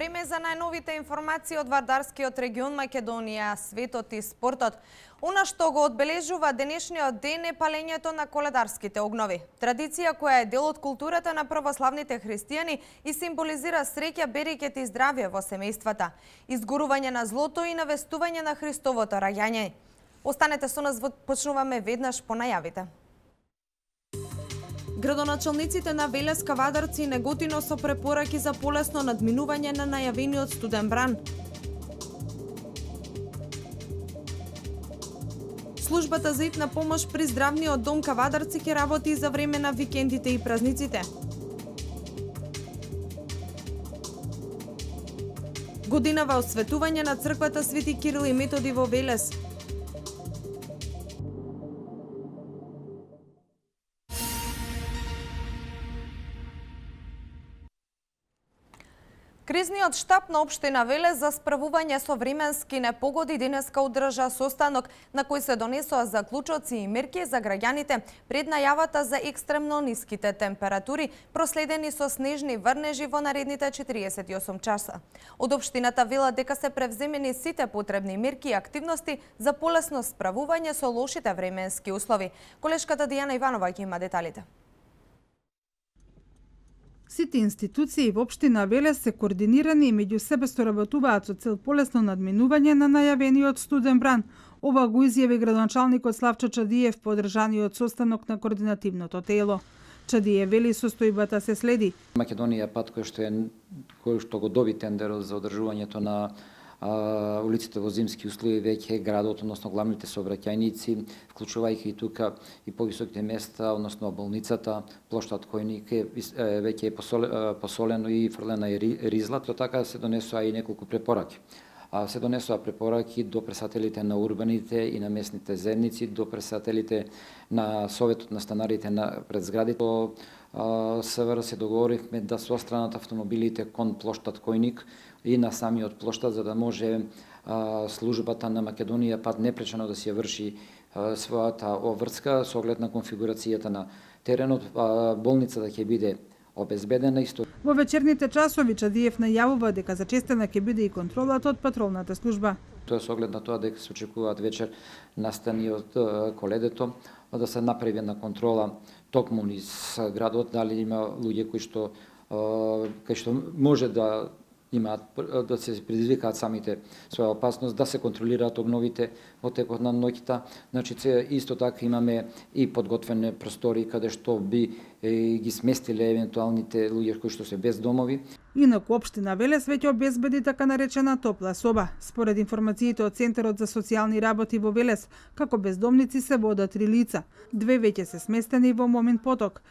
Време за најновите информации од Вардарскиот регион Македонија, светот и спортот. Она што го одбележува денешниот ден е палењето на коледарските огнови. Традиција која е дел од културата на православните христијани и символизира среќа, берекет и здравје во семејствата, изгорување на злото и навестување на Христовото раѓање. Останете со нас, почнуваме веднаш по најавите. Градоначалниците на Велес, Кавадарци и Неготино со препораки за полесно надминување на најавениот студен бран. Службата за итна помош при здравниот дом Кавадарци ќе работи за време на викендите и празниците. Годинава осветување на црквата Свети Кирил и Методи во Велес. Кризниот штаб на општина Велес за справување со временски непогоди денеска одржа состанок на кој се донесоа заклучоци и мерки за граѓаните пред најавата за екстремно ниските температури, проследени со снежни врнежи во наредните 48 часа. Од општината велат дека се превземени сите потребни мерки и активности за полесно справување со лошите временски услови. Колешката Дијана Иванова ќе има деталите. Сите институции во општина Велес се координирани и меѓу себе соработуваат со цел полесно надминување на најавениот студен бран. Ова го изјави градоначалникот Славчо Чадиев по одржаниот состанок на координативното тело. Чадиев вели состојбата се следи. Македонија пат кој што го доби тендерот за одржувањето на улиците во зимски услови веќе градот, односно главните сообраќајници, вклучувајќи и тука и повисоките места, односно болницата, плоштад Којник веќе е посолено и фрлена е ризла, то така се донесоа и неколку препораки. Се донесоа препораки до претседателите на урбаните и на местните заедници, до претседателите на Советот на станарите пред зградите. СВР се договоривме да со страната автомобилите кон плоштад Којник и на самиот плоштад, за да може службата на Македонија пат непречено да се врши својата обврска со оглед на конфигурацијата на теренот. Болницата ќе биде обезбедена исто. Во вечерните часови Чадиев најавува дека зачестена ќе биде и контролата од патролната служба. Тоа со оглед на тоа дека се очекуваат вечер настани од коледето, да се направи една контрола токму низ градот, дали има луѓе кои што може да имаат да се предизвикаат самите своја опасност, да се контролираат обновите во текот на ноќта. Значи, исто така имаме и подготвени простори каде што би ги сместиле евентуалните луѓе кои што се без домови. Инаку општина Велес веќе обезбеди така наречена топла соба. Според информациите од Центарот за социјални работи во Велес, како бездомници се водат 3 лица. 2 веќе се сместени во Момин поток.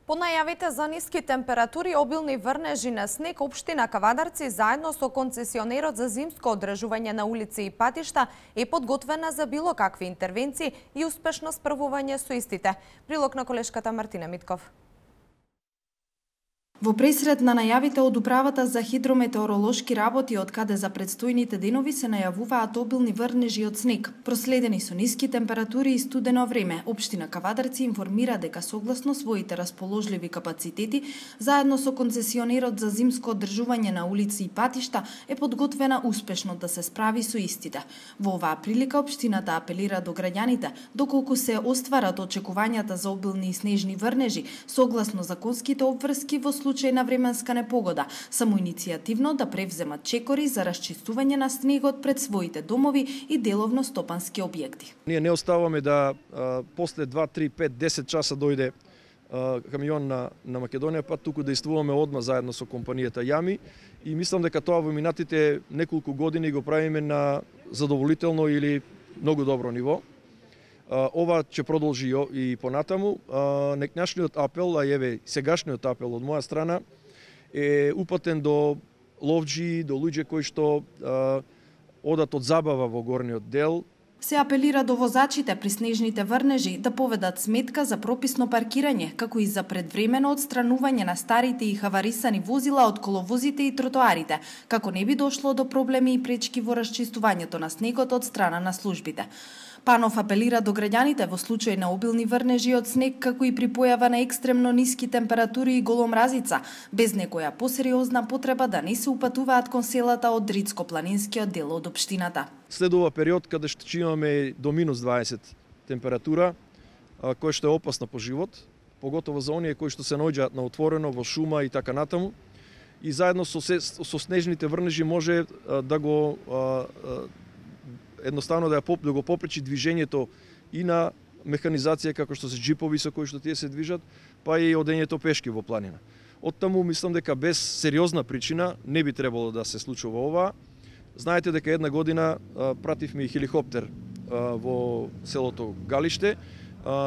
По најавите за ниски температури и обилни врнежи на снег, општина Кавадарци заедно со концесионерот за зимско одржување на улици и патишта е подготвена за било какви интервенции и успешно справување со истите. Прилог на колешката Мартина Митков. Во пресред на најавите од Управата за хидрометеоролошки работи, од каде за предстојните денови се најавуваат обилни врнежи од снег, проследени со ниски температури и студено време, општина Кавадарци информира дека согласно своите расположливи капацитети, заедно со концесионерот за зимско одржување на улици и патишта, е подготвена успешно да се справи со истите. Во оваа прилика општината апелира до граѓаните, доколку се остварат очекувањата за обилни и снежни врнежи, согласно законските обврски во случај на временска непогода, самоиницијативно да превземат чекори за расчистување на снегот пред своите домови и деловно стопански објекти. Ние не оставаме да после 2, 3, 5, 10 часа дојде камион на Македонија, па туку действуваме одма заедно со компанијата Јами и мислам дека тоа во минатите неколку години го правиме на задоволително или многу добро ниво. Ова ќе продолжи и понатаму. Некнашниот апел, а еве сегашниот апел од моја страна е упатен до ловџи, до луѓе кои што одат од забава во горниот дел. Се апелира до возачите при снежните врнежи да поведат сметка за прописно паркирање, како и за предвремено отстранување на старите и хаварисани возила од коловозите и тротоарите, како не би дошло до проблеми и пречки во расчистувањето на снегот од страна на службите. Панов апелира до граѓаните во случај на обилни врнежи од снег, како и при појава на екстремно ниски температури и голомразица, без некоја посериозна потреба да не се упатуваат кон селата од Дрицко-планинскиот дел од општината. Следува период каде што имаме до минус 20 температура, која што е опасна по живот, поготово за оние кои што се наоѓаат на отворено, во шума и така натаму. И заедно со снежните врнежи може да го едноставно да го попречи движењето и на механизација како што се джипови со кои што тие се движат, па и одењето пешки во планина. Оттаму мислам дека без сериозна причина не би требало да се случува ова. Знаете дека една година пративме и хеликоптер во селото Галиште.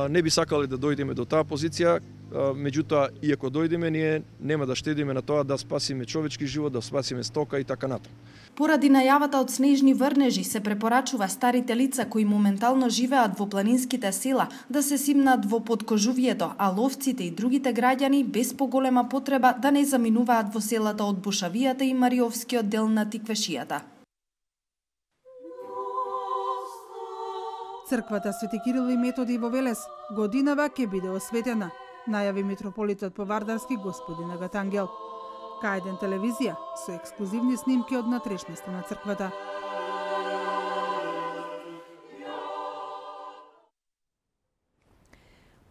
Не би сакале да дојдеме до таа позиција, меѓутоа, иако дојдеме, ние нема да штедиме на тоа да спасиме човечки живот, да спасиме стока и така натаму. Поради најавата од снежни врнежи се препорачува старите лица кои моментално живеат во планинските села да се симнат во подкожувието, а ловците и другите граѓани без поголема потреба да не заминуваат во селата од Бушавијата и Мариовскиот дел на Тиквешијата. Црквата Свети Кирил и Методи во Велес годинава ќе биде осветена, најави митрополитот по Вардарски господин Агатангел. К1 телевизија со ексклузивни снимки од натрешноста на црквата.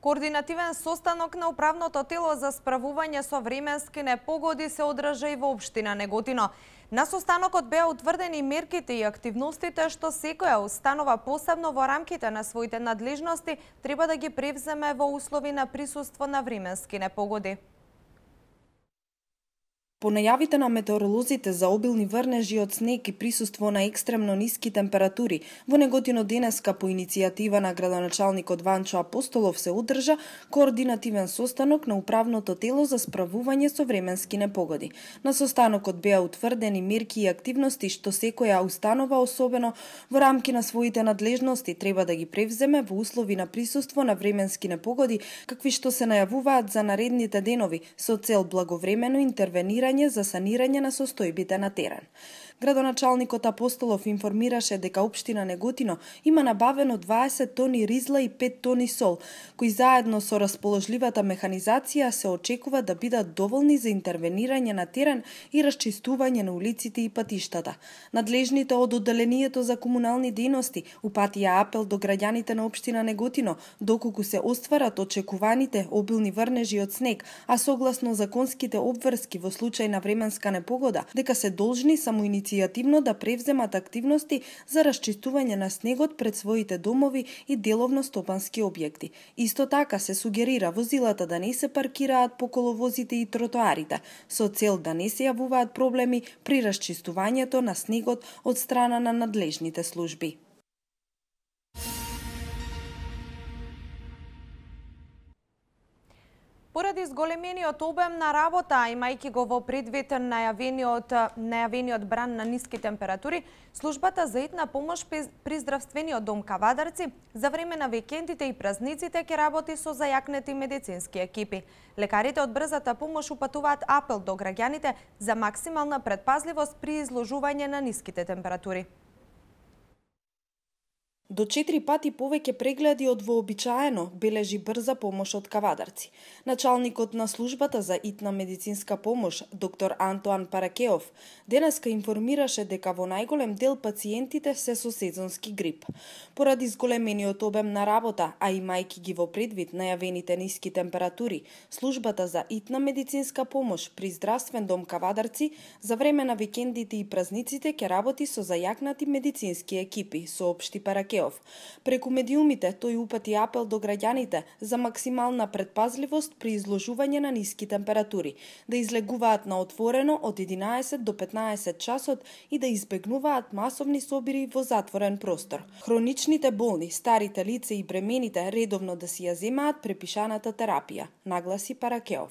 Координативен состанок на управното тело за справување со временски непогоди се одржа и во општина Неготино. На состанокот беа утврдени мерките и активностите што секоја установа посебно во рамките на своите надлежности треба да ги превземе во услови на присуство на временски непогоди. По најавите на метеоролозите за обилни врнежи од снег и присуство на екстремно ниски температури, во Неготино денеска по иницијатива на градоначалникот Ванчо Апостолов се одржа координативен состанок на управното тело за справување со временски непогоди. На состанокот беа утврдени мерки и активности што секоја установа, особено во рамки на своите надлежности, треба да ги превземе во услови на присуство на временски непогоди, какви што се најавуваат за наредните денови, со цел благовремено интервенирање за санирање на состојбите на терен. Градоначалникот Апостолов информираше дека општина Неготино има набавено 20 тони ризла и 5 тони сол, кои заедно со расположливата механизација се очекува да бидат доволни за интервенирање на терен и расчистување на улиците и патиштата. Надлежните од одделението за комунални дејности упатија апел до граѓаните на општина Неготино доколку се остварат очекуваните обилни врнежи од снег, а согласно законските обврски во случај на временска непогода, дека се должни самоиницијативно да превземат активности за расчистување на снегот пред своите домови и деловно стопански објекти. Исто така се сугерира возилата да не се паркираат по коловозите и тротоарите, со цел да не се јавуваат проблеми при расчистувањето на снегот од страна на надлежните служби. Поради зголемениот обем на работа, имајќи го во предвид најавениот бран на ниски температури, службата за итна помош при здравствениот дом Кавадарци за време на викендите и празниците ќе работи со зајакнети медицински екипи. Лекарите од брзата помош упатуваат апел до граѓаните за максимална предпазливост при изложување на ниските температури. До 4 пати повеќе прегледи од вообичаено бележи брза помош од Кавадарци. Началникот на службата за итна медицинска помош, доктор Антоан Паракеов, денеска информираше дека во најголем дел пациентите се со сезонски грип. Поради зголемениот обем на работа, а имајќи ги во предвид најавените ниски температури, службата за итна медицинска помош при здравствен дом Кавадарци за време на викендите и празниците ќе работи со зајакнати медицински екипи, соопшти Паракеов. Преку медиумите тој упати апел до граѓаните за максимална предпазливост при изложување на ниски температури, да излегуваат на отворено од 11 до 15 часот и да избегнуваат масовни собири во затворен простор. Хроничните болни, старите лица и бремените редовно да си ја земаат препишаната терапија, нагласи Паракеов.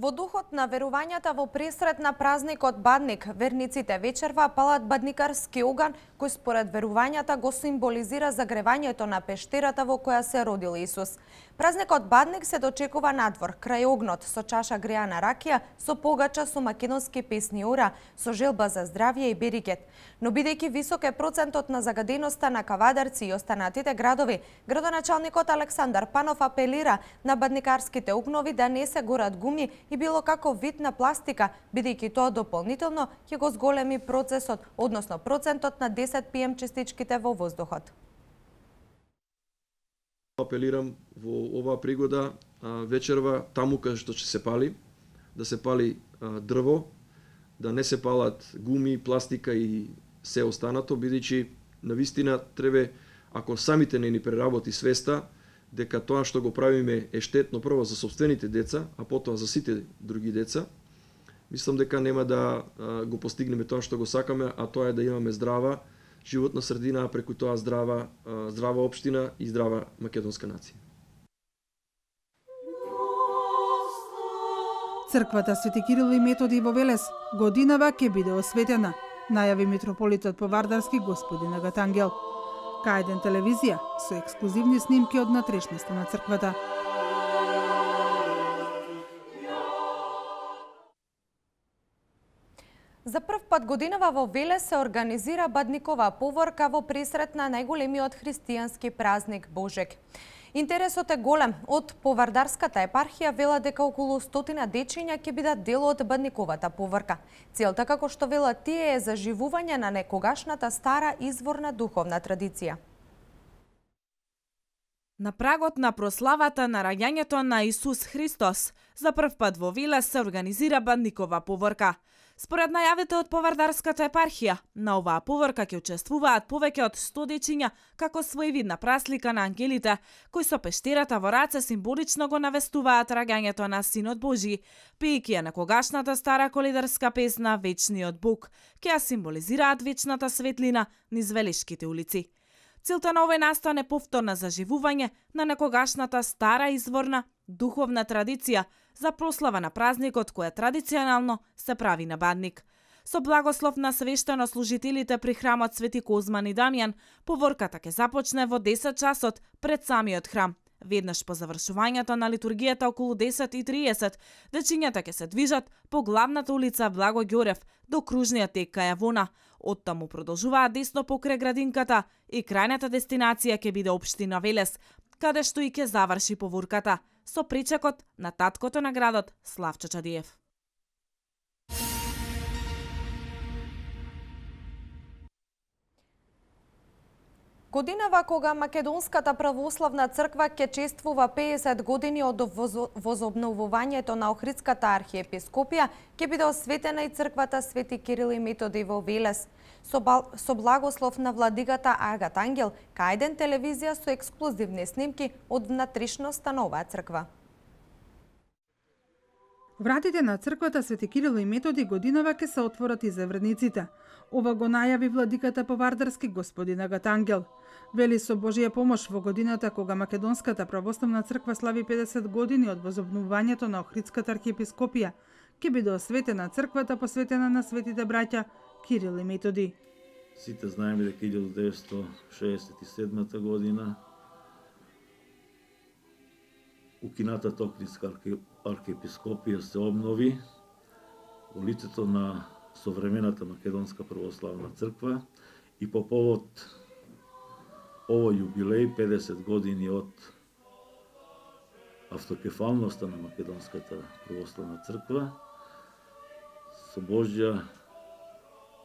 Во духот на верувањата во пресрет на празникот Бадник, верниците вечерва палат бадникарски оган, кој според верувањата го символизира загревањето на пештерата во која се родил Исус. Празникот Бадник се дочекува надвор, крај огнот, со чаша греана ракија, со погача со македонски песни ора, со желба за здравје и берикет. Но бидејќи висок е процентот на загаденоста на Кавадарци и останатите градови, градоначалникот Александар Панов апелира на бадникарските огнови да не се горат гуми и било каков вид на пластика, бидејќи тоа дополнително ќе го зголеми процесот, односно процентот на 10 PM частичките во воздухот. Апелирам во оваа пригода вечерва таму каде што ќе се пали, да се пали дрво, да не се палат гуми, пластика и се останато, бидејќи навистина треба, ако самите не ни преработи свеста, дека тоа што го правиме е штетно прво за сопствените деца, а потоа за сите други деца. Мислам дека нема да го постигнеме тоа што го сакаме, а тоа е да имаме здрава животна средина, а преку тоа здрава општина и здрава македонска нација. Црквата Свети Кирил и Методи во Велес годинава ќе биде осветена, најави митрополитот Повардарски господин Агатангел. К1 телевизија со ексклузивни снимки од натрешноста на црквата. За прв пат годинава во Велес се организира бадникова поворка во пресрет на најголемиот христијански празник Божек. Интересот е голем. Од Повардарската епархија велат дека околу 100 дечиња ќе бидат дел од бадниковата поворка. Целта, како што велат тие, е заживување на некогашната стара изворна духовна традиција. На прагот на прославата на раѓањето на Исус Христос, за прв пат во Велес се организира бадникова поворка. Според најавите од Повардарската епархија, на оваа поворка ќе учествуваат повеќе од 100 дечиња како своевидна праслика на ангелите, кои со пештерата во раце символично го навестуваат раѓањето на Синот Божи, пејќи ја некогашната стара колидарска песна Вечниот Бог, ќе ја символизираат вечната светлина низ Велешките улици. Целта на овој настан е повторно заживување на некогашната стара изворна духовна традиција за прослава на празникот која традиционално се прави на Бадник. Со благослов на свештенослужителите при храмот Свети Козман и Дамјан, поворката ќе започне во 10 часот пред самиот храм. Веднаш по завршувањето на литургијата околу 10:30, дечињата ќе се движат по главната улица Благо Ѓорев до кружниот тек кај Јавона. Оттаму продолжуваат десно покрај градинката и крајната дестинација ќе биде општина Велес, каде што и ќе заврши поворката со причекот на таткото на градот Славчо Чадиев. Годинава кога Македонската православна црква ќе чествува 50 години од возобновувањето на Охридската архиепископија, ќе биде осветена и црквата Свети Кирил и Методи во Велес. Со благослов на владиката Агатангел, К1 телевизија со ексклузивни снимки од внатрешноста на оваа црква. Вратите на црквата Свети Кирил и Методи годинава ќе се отворат и за верниците. Ова го најави владиката Повардарски господин Агатангел. Вели со Божија помош во годината кога Македонската православна црква слави 50 години од возобновувањето на Охридската архиепископија, ќе биде осветена црквата посветена на светите браќа Кирил и Методи. Сите знаеме дека 1967 година укинатата Охридска архиепископија се обнови во лицето на современата Македонска православна црква и по повод овој јубилеј 50 години од автокефалноста на Македонската православна црква, со Божја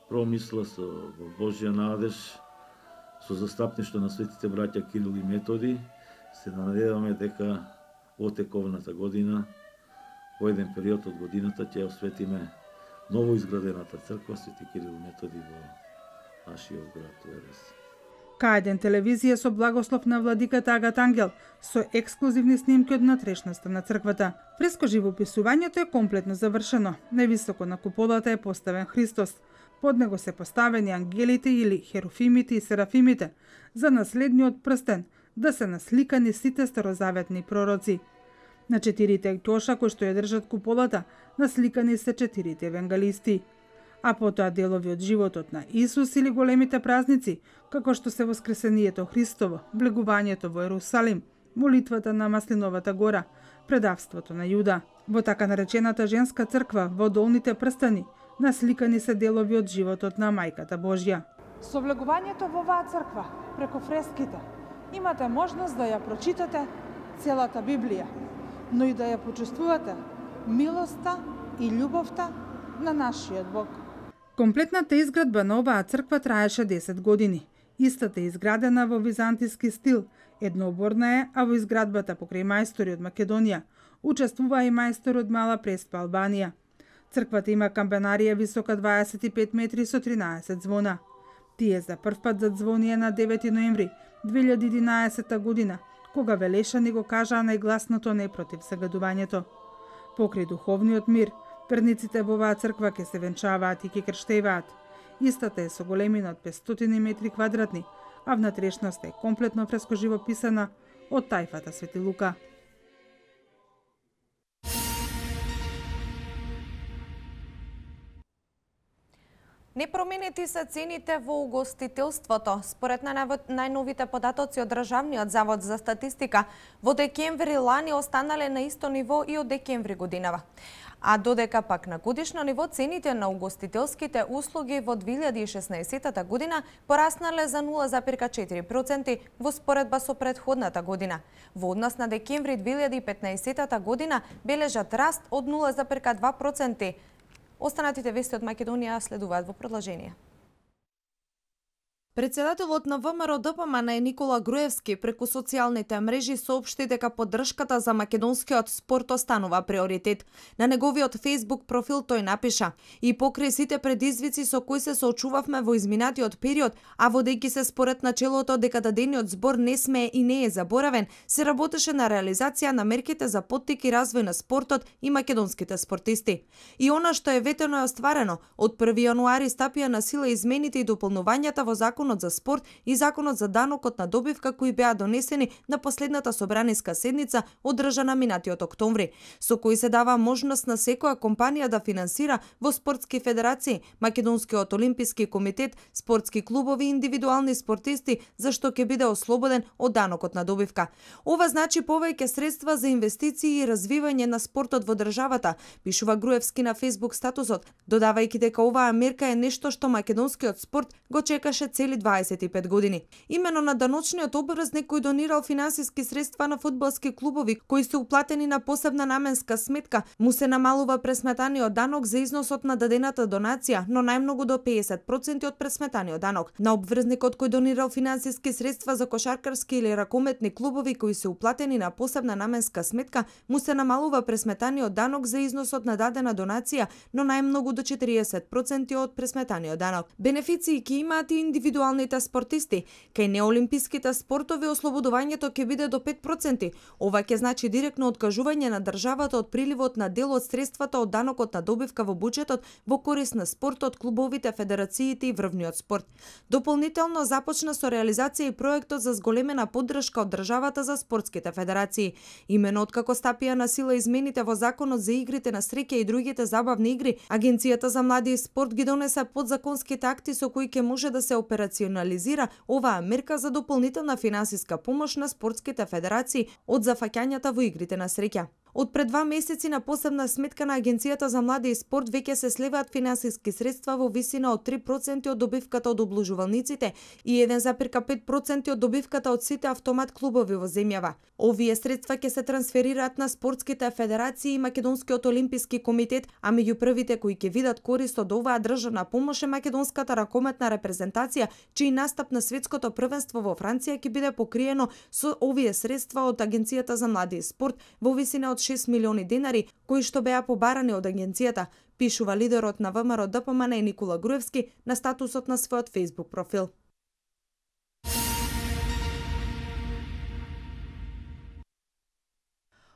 промисла, со Божја надеж, со застапништво на светите браќа Кирил и Методи, се надеваме дека во тековната година, во еден период од годината, ќе осветиме ново изградената црква Свети Кирил и Методи во нашиот град Велес. К1 телевизија со благослов на владиката Агатангел со ексклузивни снимки од натрешноста на црквата. Фреско живописувањето е комплетно завршено. Највисоко на куполата е поставен Христос. Под него се поставени ангелите или херуфимите и серафимите за наследниот прстен, да се насликани сите старозаветни пророци. На 4 ќоша кои што ја држат куполата, насликани се 4 евангелисти. А потоа делови од животот на Исус или големите празници, како што се воскресението Христово, влегувањето во Ерусалим, молитвата на Маслиновата гора, предавството на Јуда. Во така наречената женска црква во долните прстани насликани се делови од животот на Мајката Божја. Со влегувањето во оваа црква, преку фреските, имате можност да ја прочитате целата Библија, но и да ја почувствувате милоста и љубовта на нашиот Бог. Комплетната изградба на оваа црква траеше 10 години. Истата е изградена во византиски стил, еднооборна е, а во изградбата покрај мајстори од Македонија учествува и мајстор од Мала Преспа, Албанија. Црквата има кампанарија висока 25 метри со 13 звона. Тие за прв пат задзвонија на 9 ноември 2011 година, кога Велешани го кажаа најгласното не против загадувањето. Покрај духовниот мир, верниците во оваа црква ќе се венчаваат и ќе крштеваат. Истата е со големина од 500 метри квадратни, а внатрешноста е комплетно фреско живописана од тајфата Свети Лука. Непроменети се цените во угостителството. Според најновите податоци од Државниот завод за статистика, во декември лани останале на исто ниво и од декември годинава. А додека пак на годишно ниво цените на угостителските услуги во 2016 година пораснале за 0,4% во споредба со претходната година. Во однос на декември 2015 година бележат раст од 0,2%. Останатите вести од Македонија следуваат во продолжение. Председателот на ВМРО ДПМН Никола Груевски преку социјалните мрежи соопшти дека поддршката за македонскиот спорт останува приоритет. На неговиот Facebook профил тој напиша: "И покрај сите предизвици со кои се соочувавме во изминатиот период, а водејќи се според начелото дека дадениот збор не смее и не е заборавен, се работеше на реализација на мерките за поттик и развој на спортот и македонските спортисти. И она што е ветено е остварено. Од 1 јануари стапија на сила измените и дополнувањата во Законот за спорт и Законот за данокот на добивка кои беа донесени на последната собраниска седница одржана минатиот октомври, со кои се дава можност на секоја компанија да финансира во спортски федерации, Македонскиот олимписки комитет, спортски клубови и индивидуални спортисти, за што ќе биде ослободен од данокот на добивка. Ова значи повеќе средства за инвестиции и развивање на спортот во државата, пишува Груевски на Facebook статусот, додавајќи дека оваа мерка е нешто што македонскиот спорт го чекаше цели 25 години. Имено на даночниот обврзник кој донирал финансиски средства на фудбалски клубови кои се уплатени на посебна наменска сметка, му се намалува пресметаниот данок за износот на дадената донација, но најмногу до 50% од пресметаниот данок. На обврзникот кој донирал финансиски средства за кошаркарски или ракометни клубови кои се уплатени на посебна наменска сметка, му се намалува пресметаниот данок за износот на дадена донација, но најмногу до 40% од пресметаниот данок. Бенефиции ќе имаат и индивидуалните спортисти. Кај неолимписките спортови ослободувањето ќе биде до 5%. Ова ќе значи директно откажување на државата од приливот на дел од средствата од данокот на добивка во буџетот во корист на спортот, клубовите, федерациите и врвниот спорт. Дополнително започна со реализација и проектот за зголемена поддршка од државата за спортските федерации. Имено откако стапија на сила измените во Законот за игрите на среќа и другите забавни игри, Агенцијата за млади и спорт ги донесе подзаконските акти со кои ќе може да се операционализира оваа мерка за дополнителна финансиска помош на спортските федерации од зафаќањата во игрите на среќа. Од пред 2 месеци на посебна сметка на Агенцијата за млади и спорт веќе се сливаат финансиски средства во висина од 3% од добивката од обложувалниците и 1,5% од добивката од сите автомат клубови во земјава. Овие средства ќе се трансферираат на спортските федерации и Македонскиот олимписки комитет, а меѓу првите кои ќе видат корист од оваа државна помош е македонската ракометна репрезентација, чиј настап на светското првенство во Франција ќе биде покриено со овие средства од Агенцијата за млади и спорт во висина од 6 милиони денари, кои што беа побарани од агенцијата, пишува лидерот на ВМРО ДПМН Никола Груевски на статусот на својот Facebook профил.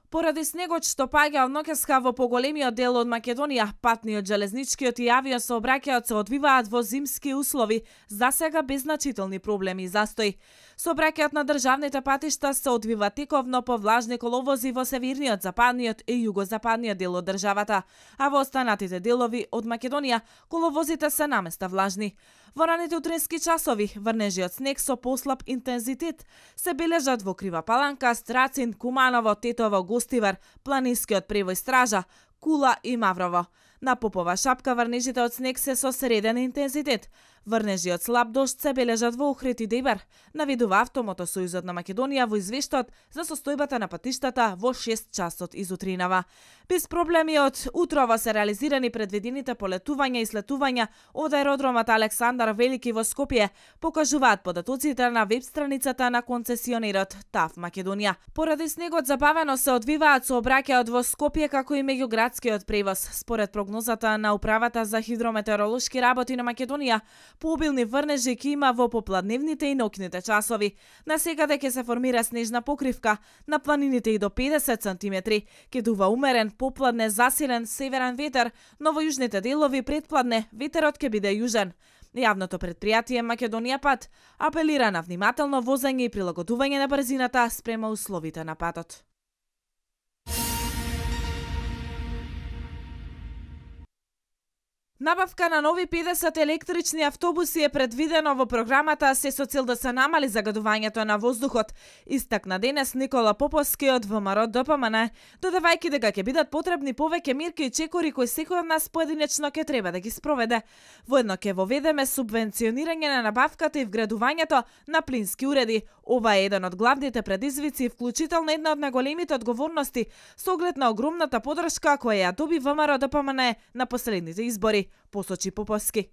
Поради снегот што паѓа од ноќеска во поголемиот дел од Македонија, патниот, железничкиот и авиосообраќајот се одвиваат во зимски услови, засега без значителни проблеми и застои. Сообраќајот на државните патишта се одвива тековно по влажни коловози во северниот, западниот и југозападниот дел од државата, а во останатите делови од Македонија коловозите се наместа влажни. Во раните утрински часови, врнежи од снег со послаб интензитет се бележат во Крива Паланка, Страцин, Куманово, Тетово, Гостивар, Планинскиот превој Стража, Кула и Маврово. На Попова шапка врнежите од снег се со среден интензитет. Врнежи од слаб дожд се бележат во Охрид и Дебар, наведува Автомотосојузот на Македонија во извештаот за состојбата на патиштата во 6 часот изутринава. Без проблеми од утрово се реализирани предвидените полетувања и слетувања од аеродромот Александар Велики во Скопје, покажуваат податоците на веб страницата на концесионерот ТАВ Македонија. Поради снегот забавено се одвиваат сообраќајот во Скопје како и меѓуградскиот превоз. Според прогнозата на Управата за хидрометеоролошки работи на Македонија, пообилни врнежи ќе има во попладневните и ноќните часови. Насекаде ќе се формира снежна покривка, на планините и до 50 сантиметри. Ќе дува умерен, попладне засилен северен ветер, но во јужните делови предпладне ветерот ќе биде јужен. Јавното претпријатие Македонија Пат апелира на внимателно возење и прилагодување на брзината спрема условите на патот. Набавка на нови 50 електрични автобуси е предвидено во програмата се со цел да се намали загадувањето на воздухот, истакна денес Никола Поповски од ВМРО ДПМН, додавајќи дека ќе бидат потребни повеќе мерки и чекори кои секој од нас поединечно ќе треба да ги спроведе. Воедно ќе воведеме субвенционирање на набавката и вградувањето на плински уреди. Ова е еден од главните предизвици, вклучително една од најголемите одговорности со оглед на огромната подршка која ја доби ВМРО ДПМН на последните избори, посочи Поповски.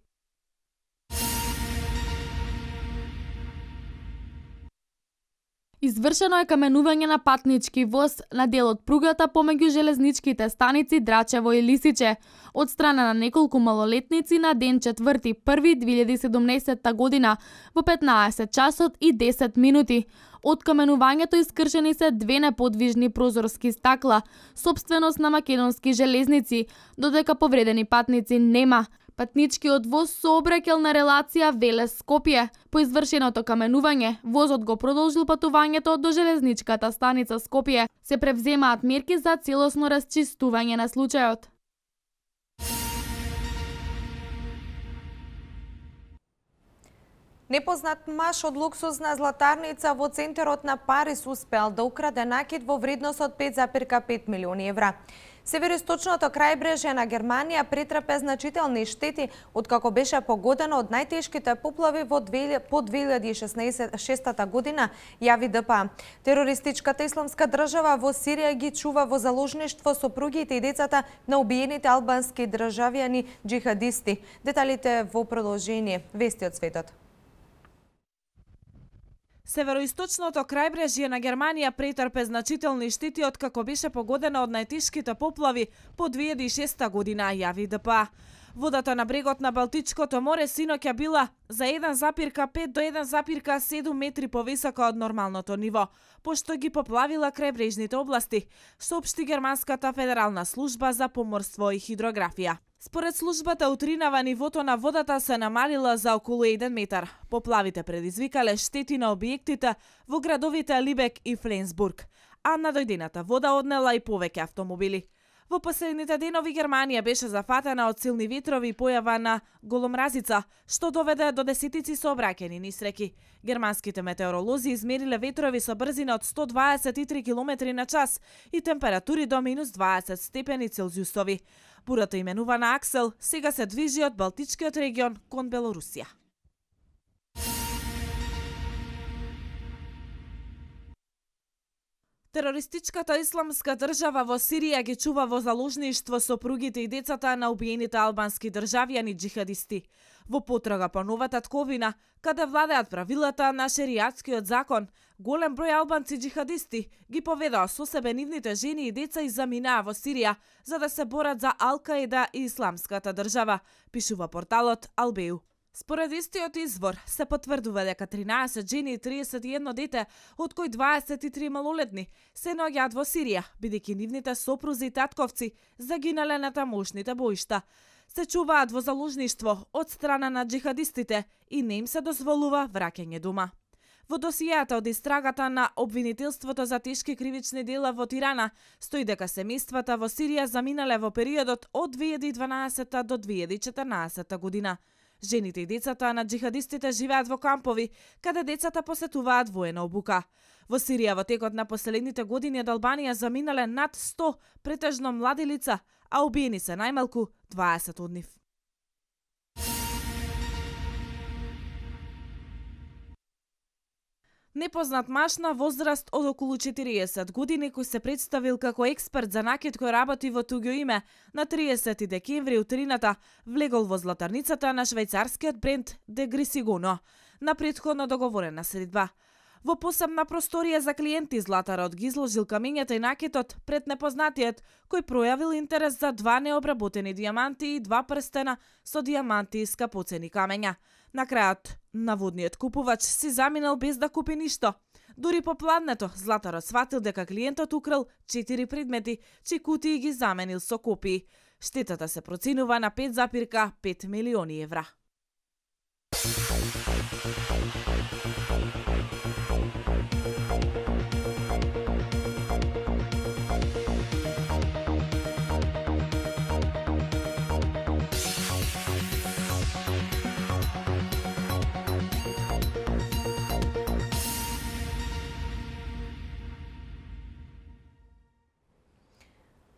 Извршено е каменување на патнички воз на дел од пругата помеѓу железничките станици Драчево и Лисиче од страна на неколку малолетници на ден 4.1.2017 година во 15 часот и 10 минути. Од каменувањето искршени се 2 неподвижни прозорски стакла, сопственост на македонски железници, додека повредени патници нема. Патничкиот воз сообраќал на релација Велес-Скопје. По извршеното каменување, возот го продолжил патувањето до железничката станица Скопје. Се превземаат мерки за целосно расчистување на случајот. Непознат маж од луксузна златарница во центарот на Париз успеал да украде накид во вредност од 5,5 милиони евра. Североисточното крајбрежје на Германија претрпе значителни штети откако беше погодено од најтешките поплави по 2016 година, јави ДПА. Терористичката исламска држава во Сирија ги чува во заложништво сопругите и децата на убиените албански државјани џихадисти. Деталите во продолжение. Вести од светот. Североисточното крајбрежје на Германија претрпе значителни штети откако беше погодена од најтешките поплави по 2006 година, јави ДПА. Водата на брегот на Балтичкото море синоќа била за 1,5 до 1,7 метри повисока од нормалното ниво, пошто ги поплавила крајбрежните области, соопшти Германската федерална служба за поморство и хидрографија. Според службата утринава нивото на водата се намалила за околу 1 метар. Поплавите предизвикале штети на објектите во градовите Либек и Фленсбург, а надојдената вода однела и повеќе автомобили. Во последните денови Германија беше зафатена од силни ветрови и појава на голомразица, што доведе до десетици сообраќајни несреќи. Германските метеоролози измериле ветрови со брзина од 123 км на час и температури до минус 20 степени Целзиусови. Бурата именувана Аксел сега се движи од Балтичкиот регион кон Белорусија. Терористичката исламска држава во Сирија ги чува во заложништво сопругите и децата на убиените албански државјани џихадисти. Во потрага по нова татковина, каде владеат правилата на шеријатскиот закон, голем број албанци џихадисти ги поведаа со себе нивните жени и деца и заминаа во Сирија за да се борат за Ал-Каида и исламската држава, пишува порталот Албеу. Според истиот извор се потврдува дека 13 жени и 31 дете, од кои 23 малолетни, се наоѓаат во Сирија, бидејќи нивните сопрузи и татковци загинале на тамошните боишта. Се чуваат во заложништво од страна на джихадистите и не им се дозволува враќање дома. Во досијата од истрагата на обвинителството за тешки кривични дела во Тирана стои дека семејствата во Сирија заминале во периодот од 2012 до 2014 година. Жените и децата на джихадистите живеат во кампови, каде децата посетуваат воена обука. Во Сирија во текот на последните години од Албанија заминале над 100 претежно млади лица, а убиени се најмалку 20 од нив. Непознат маж на возраст од околу 40 години кој се представил како експерт за накид кој работи во туѓо име, на 30 декември утрината влегол во златарницата на швајцарскиот бренд Де Грисигоно на претходно договорена средба. Во посебна просторија за клиенти златарот ги изложил камењата и накитот пред непознатиот, кој пројавил интерес за 2 необработени дијаманти и 2 прстена со дијаманти и скапоцени камења. На крајот, наводниот купувач си заминал без да купи ништо. Дури по пладнето, златарот сватил дека клиентот украл 4 предмети, чии кутии ги заменил со копии. Штетата се проценува на 5,5 милиони евра.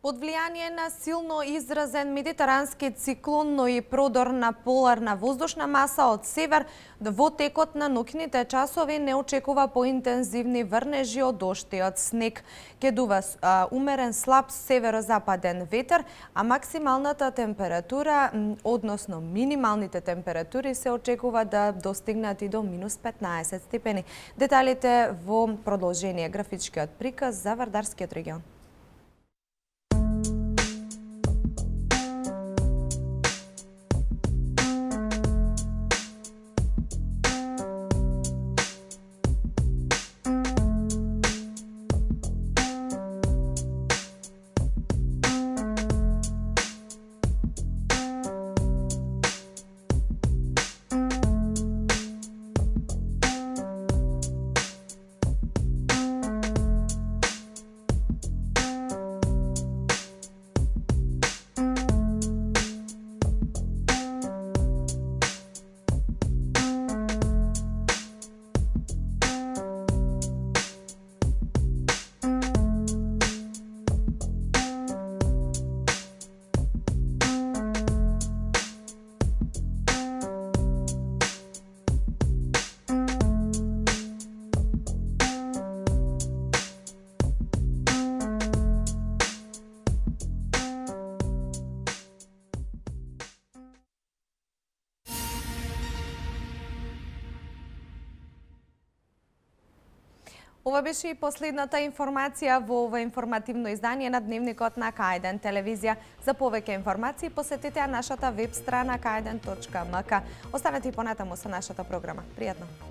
Под влијание на силно изразен медитерански циклон, но и продор на поларна воздушна маса од север, во текот на ноќните часови не очекува поинтензивни врнежи од дожд и од снег. Ќе дува умерен слаб северозападен ветер, а максималната температура, односно минималните температури се очекува да достигнат и до минус 15 степени. Деталите во продолжение графичкиот приказ за Вардарскиот регион. Ова беше и последната информација во ова информативно издание на Дневникот на К1 телевизија. За повеќе информации посетете нашата веб страна k1.mk. Останете и понатаму со нашата програма. Пријатно!